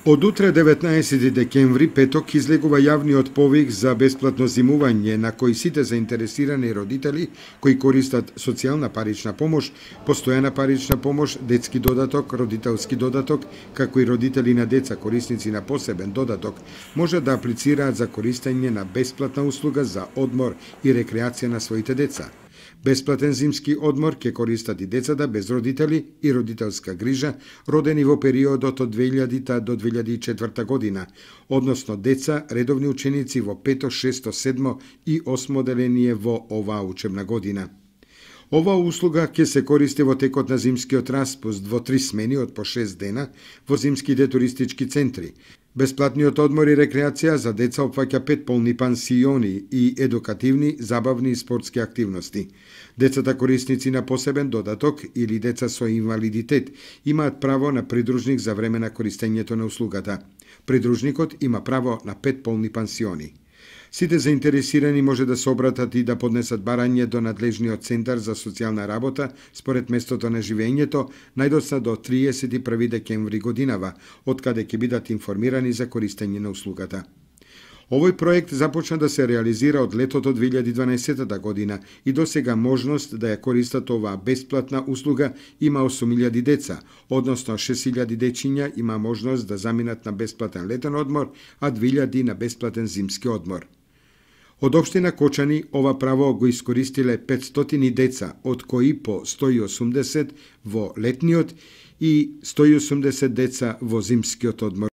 Од утре 19 декември, петок, излегува јавниот повик за бесплатно зимување на кој сите заинтересирани родители кои користат социјална парична помош, постојана парична помош, детски додаток, родителски додаток, како и родители на деца корисници на посебен додаток, може да аплицираат за користење на бесплатна услуга за одмор и рекреација на своите деца. Бесплатен зимски одмор ќе користат и децата без родители и родителска грижа, родени во периодот од 2000 до 2004 година, односно деца, редовни ученици во 5, 6, 7 и 8 одделение во оваа учебна година. Оваа услуга ќе се користи во текот на зимскиот распуст во 3 смени од по 6 дена во зимските туристички центри. Бесплатниот одмор и рекреација за деца опфаќа 5 полни пансиони и едукативни, забавни и спортски активности. Децата корисници на посебен додаток или деца со инвалидитет имаат право на придружник за време на користењето на услугата. Придружникот има право на 5 полни пансиони. Сите заинтересирани може да се обратат и да поднесат барање до надлежниот центар за социјална работа според местото на живењето најдоцна до 31 декември годинава, од каде ќе бидат информирани за користење на услугата. Овој проект започна да се реализира од летото 2012 година и досега можност да ја користат оваа бесплатна услуга има 8.000 деца, односно 6.000 дечиња има можност да заминат на бесплатен летен одмор, а 2.000 на бесплатен зимски одмор. Од општина Кочани ова право го искористиле 500 деца, од кои по 180 во летниот и 180 деца во зимскиот одмор.